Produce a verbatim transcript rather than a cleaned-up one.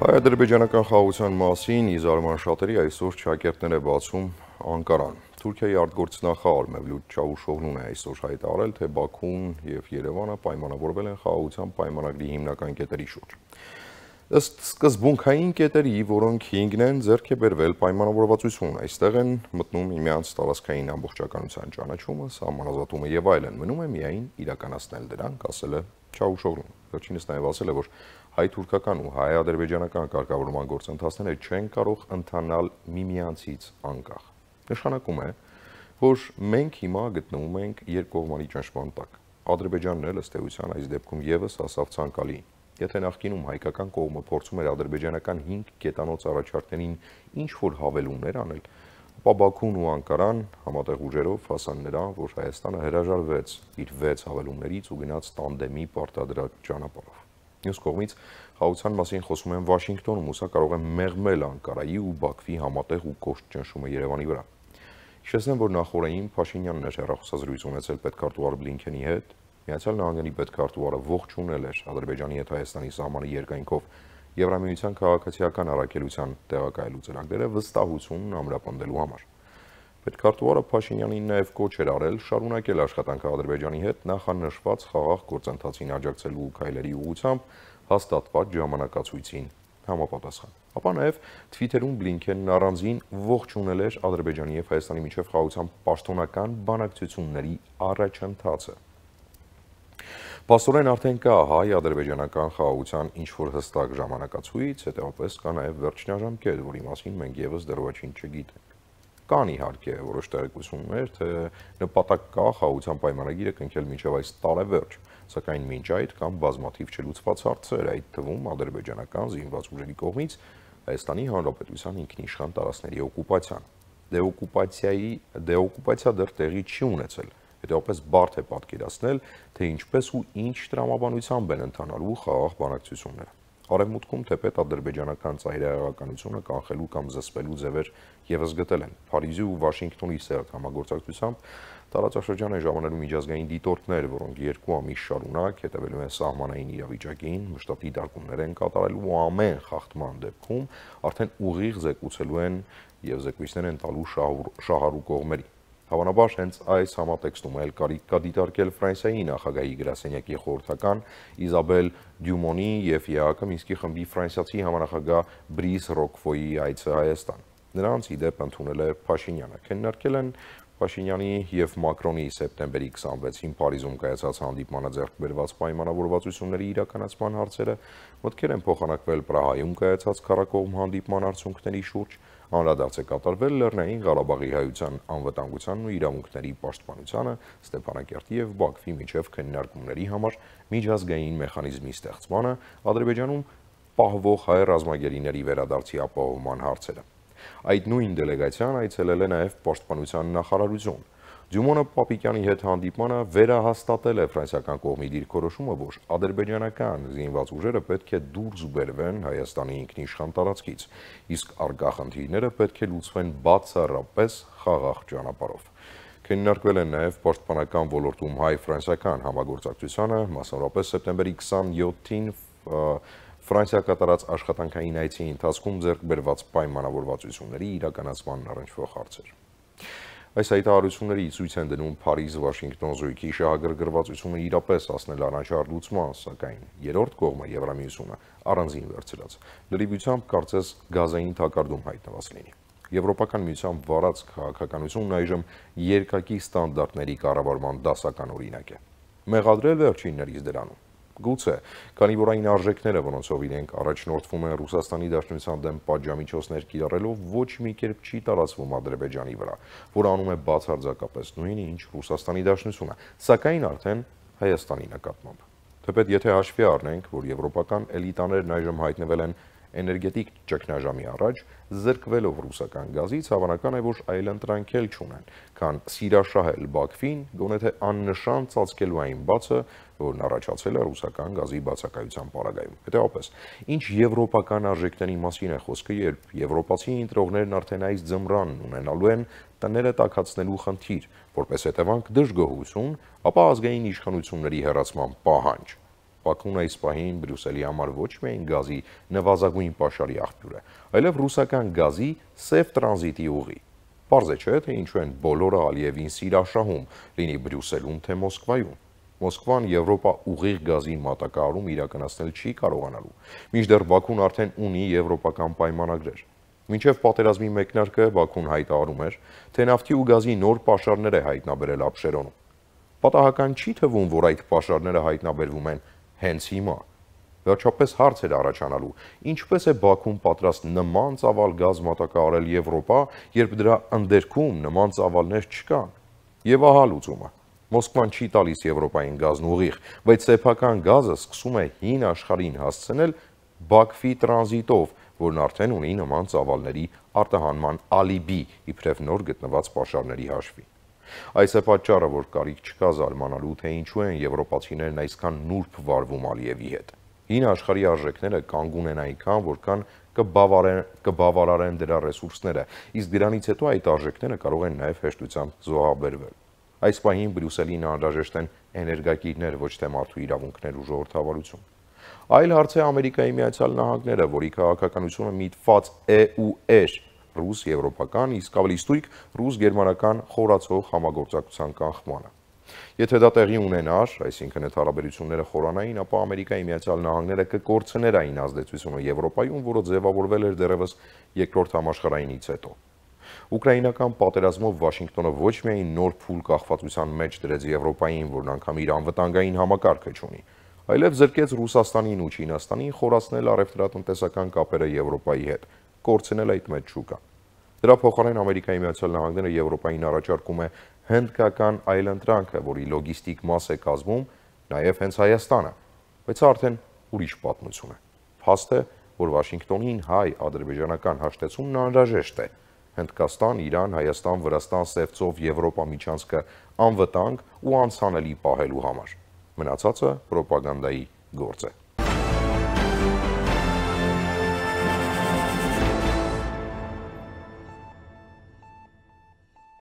Հայ-ադրբեջանական խաղաղության մասին ի զարման շատերի այսօր ճակերտներ է բացում Անկարան։ Թուրքիայի արտգործնախարար Մևլութ Չավուշօղլուն է այսօր հայտարարել, թե Բաքուն եւ Երևանը պայմանավորվել են խաղաղության պայմանագրի հիմնական կետերի շուրջ։ Ըստ սկզբունքային կետերի, որոնք հինգն են, ձեռք է բերվել պայմանավորվածություն, այստեղ են մտնում միմյանց տարածքային ամբողջականության ճանաչումը, սահմանազատումը եւ այլն, մնում է միայն իրականացնել դրանք, ասել է Չավուշօղլուն։ Վերջինս նաև ասել է, որ հայ-թուրքական ու հայ-ադրբեջանական կարգավորման գործընթացները չեն կարող ընթանալ միմյանցից անկախ։ Նշանակում է, որ մենք հիմա գտնվում ենք երկկողմանի ճնշման տակ։ Ադրբեջանն էլ ըստ էության այս դեպքում եւս ասավ ցանկալի։ Եթե նախկինում հայկական կողմը փորձում էր ադրբեջանական հինգ կետանոց առաջարկներին ինչ-որ հավելումներ անել, ապա Բաքուն ու Անկարան համատեղ ուժերով հասան նրան, որ Հայաստանը հրաժարվեց իր վեց հավելումներից ու գնաց տանդեմի պարտադրած ճանապարհով։ Մյուս կողմից խաղաղության մասին խոսում են Վաշինգտոնում, ու սա կարող է մեղմել Անկարայի ու Բաքվի համատեղ ու կոշտ ճնշումը Երևանի վրա։ Հիշեցնեմ, որ նախորդին Փաշինյանն էր հեռախոսազրույց ունեցել պետքարտուղար Բլինքենի հետ։ Միացյալ Նահանգների պետքարտուղարը ողջունել էր Ադրբեջանի հետ Հայաստանի սահմանի երկայնքով Եվրամիության քաղաքացիական առաքելության տեղակայելու ծրագրերը վստահություն ամրապնդելու համար։ Պետքարտուղարը Փաշինյանին նաև կոչ էր արել շարունակել աշխատանքը Ադրբեջանի հետ նախանշված խաղաղ գործընթացին աջակցելու քայլերի ուղղությամբ հաստատված ժամանակացույցին համապատասխան։ Ապա նաև Թվիթերում Բլինքենն առանձին ողջունել էր Ադրբեջանի եւ Հայաստանի միջև խաղաղության պաշտոնական բանակցությունների առաջընթացը։ Պաստորեն արդեն կա հայ-ադրբեջանական խաղաղության ինչ-որ հստակ ժամանակացույց, հետևապես կա նաև վերջնաժամկետ, որի մասին մենք եւս դեռ ոչինչ չգիտենք։ Կան իհարկե որոշ տեղեկություններ, թե նպատակ կա խաղաղության պայմանագիրը կնքել մինչև այս տարեվերջ, սակայն մինչ այդ կան բազմաթիվ չլուծված հարցեր, այդ թվում ադրբեջանական զինված ուժերի կողմից Հայաստանի Հանրապետության ինքնիշխան տարածքների օկուպացիան։ Դեօկուպացիայի դեօկուպացիա դեռ տեղի չի ունեցել, հետևապես բարդ է պատկերացնել, թե ինչպես ու ինչ տրամաբանությամբ են ընթանալու խաղաղ բանակցությունները։ Արևմուտքում թեպետ ադրբեջանական ծայրահեղականությունը կանխելու կամ զսպելու ձևեր եւս գտել են։ Փարիզի ու Վաշինգտոնի սերտ համագործակցությամբ տարածաշրջան են ժամանելու միջազգային դիտորդներ, որոնք երկու ամիս շարունակ հետևելու են սահմանային իրավիճակին, մշտապ դիտարկումներ են կատարելու ու ամեն խախտման դեպքում արդեն ուղիղ զեկուցելու են եւ զեկույցներ են տալու շահառու կողմերի։ Հավանաբար հենց այս համատեքստում էլ կարիք կա դիտարկել Ֆրանսիայի նախագահի գրասենյակի խորհրդական Իզաբել Դյումոնի եւ ԵԱՀԿ Մինսկի խմբի ֆրանսիացի համանախագահ Բրիս Ռոկվոյի այցը Հայաստան։ Նրանց ի դեպ ընդունել է Փաշինյանը։ Քննարկել են Փաշինյանի եւ Մակրոնի սեպտեմբերի քսանվեցին Փարիզում կայացած հանդիպմանը ձեռք բերված պայմանավորվածությունների իրականացման հարցերը, մտքեր են փոխանակվել Պրահայում կայացած քառակողմ հանդիպման արդյունքների շուրջ, անդրադարձ է կատարվել Լեռնային Ղարաբաղի հայության անվտանգությանն ու իրավունքների պաշտպանությանը, Ստեփանակերտի եւ Բաքվի միջև քննարկումների համար միջազգային մեխանիզմի ստեղծմանը, Ադրբեջանում պահվող հայ ռազմագերիների վերադարձի ապահովման հարցերը։ Այդ նույն դելեգացիան այցելել է նաև Պաշտպանության նախարարություն։ Դյումոնը Պապիկյանի հետ հանդիպմանը վերահաստատել է ֆրանսիական կողմի դիրքորոշումը, որ ադրբեջանական զինված ուժերը պետք է դուրս բերվեն Հայաստանի ինքնիշխան տարածքից, իսկ առկա խնդիրները պետք է լուծվեն բացառապես խաղաղ ճանապարհով։ Քննարկվել են նաև պաշտպանական ոլորտում հայ-ֆրանսիական համագործակցությանը, մասնավորապես սեպտեմբերի քսանյոթին Ֆրանսիա կատարած աշխատանքային այցի ընթացքում ձեռք բերված պայմանավորվածությունների իրականացման առնչվող հարցեր։ Այս հայտարարությունների ցույց են դնում Փարիզ-Վաշինգտոն զույգի շահագրգռվածությունը իրապես հասնել առանջար լուծման, սակայն երրորդ կողմը Եվրամիությունը առանձին վերցրած լրիվությամբ կարծես գազային թակարդում հայտնված լինի։ Եվրոպական միության վարած քաղաքականությունն այժմ երկակի ստանդարտների կառավարման դասական օրինակ է։ Մեղադրել վերջիններից դրանում։ Գուցե, քանի որ այն արժեքները, որոնցով իրենք առաջնորդվում են Ռուսաստանի Դաշնության դեմ պատժամիջոցներ կիրառելով, ոչ մի կերպ չի տարածվում Ադրբեջանի վրա, որ անում է բացարձակապես նույնը, ինչ Ռուսաստանի Դաշնությունը, սակայն արդեն Հայաստանի նկատմամբ։ Թեպետ եթե հաշվի առնենք, որ եվրոպական էլիտաներն այժմ հայտնվել են էներգետիկ ճգնաժամի առաջ, զրկվելով ռուսական գազից, հավանական է, որ այլընտրանք էլ չունեն, քան սիրաշահել Բաքվին, գոնե թե աննշան ծածկելու այն բացը, որն առաջացել է ռուսական գազի բացակայության պարագայում։ Հետևաբար, ինչ եվրոպական արժեքների մասին է խոսքը, երբ եվրոպացի ընտրողներն արդեն այս ձմռանն ունենալու են տները տաքացնելու խնդիր, որպես հետևանք դժգոհություն, ապա ազգային իշխանությունների հեռացման պահանջ։ Բաքուն այս պահին Բրյուսելի համար ոչ միայն գազի նվազագույն պաշարի աղբյուր է, այլև ռուսական գազի սև տրանզիտի ուղի։ Պարզ է չէ, թե ինչու են բոլորը Ալիևին սիրաշահում, լինի Բրյուսելում, թե Մոսկվայում։ Մոսկվան Եվրոպա ուղիղ գազի մատակարարում իրականացնել չի կարողանալու, մինչդեռ Բաքուն արդեն ունի եվրոպական պայմանագրեր։ Մինչև պատերազմի մեկնարկը Բաքուն հայտարարում էր, թե նավթի ու գազի նոր պաշարներ է հայտնաբերել Աբշերոնում։ Պատահական չի թվում, որ այդ պաշարները հայտնաբերվում են հենց հիմա։ Վերջապես հարց էր առաջանալու, ինչպես է Բաքուն պատրաստ նման ծավալ գազ մատակարարել Եվրոպա, երբ դրա ընդերքում նման ծավալներ չկան։ Եվ ահա լուծումը։ Մոսկվան չի տալիս Եվրոպային գազն ուղիղ, բայց սեփական գազը սկսում է հին աշխարհին հասցնել Բաքվի տրանզիտով, որն արդեն ունի նման ծավալների արտահանման ալիբի, իբրև նոր գտնված պաշարների հաշվի։ Այս է պատճառը, որ կարիք չկա զարմանալու, թե ինչու են եվրոպացիներն այսքան նուրբ վարվում Ալիևի հետ։ Հին աշխարհի արժեքները կանգուն են այնքան, որքան կբավարարեն, կբավարարեն դրա ռեսուրսները, իսկ դրանից հետո այդ արժեքները կարող են նաև հեշտությամբ զոհաբերվել։ Այս պահին Բրյուսելին անհրաժեշտ են էներգակիրներ, ոչ թե մարդու իրավունքներ ու ժողովրդավարություն։ Այլ հարց է Ամերիկայի Միացյալ Նահանգները, որի քաղաքականությունը միտված է ու էր ռուս եվրոպական, իսկ ավելի ստույգ ռուս-գերմանական խորացող համագործակցության կանխմանը։ Եթե դա տեղի ունենար, այսինքն այդ հարաբերությունները խորանային, ապա Ամերիկայի Միացյալ Նահանգները կկորցներ այն ազդեցությունը Եվրոպայում, որը ձևավորվել էր դեռևս երկրորդ համաշխարհայինից հետո։ Ուկրաինական պատերազմով Վաշինգտոնը ոչ միայն նոր փուլ կախվածության մեջ դրեց Եվրոպային, որն անգամ իր անվտանգային համակարգը չունի, այլև զրկեց Ռուսաստանին ու Չինաստանին խորացնել առևտրատնտեսական կապերը Եվրոպայի հետ, կորցնել այդ մեծ շուկան։ Դրա փոխարեն Ամերիկայի Միացյալ Նահանգները Եվրոպային առաջարկում է հնդկական այլընտրանքը, որի լոգիստիկ մաս է կազմում նաև հենց Հայաստանը, բայց արդեն ուրիշ պատմություն է։ Փաստ է, որ Վաշինգտոնին հայ-ադրբեջանական հաշտեցումն անհրաժեշտ է։ Հնդկաստան, Իրան, Հայաստան, Վրաստան, Սևծով, Եվրոպա միջանցքը անվտանգ ու անցանելի պահելու համար։ Մնացածը պրոպագանդայի գործ է։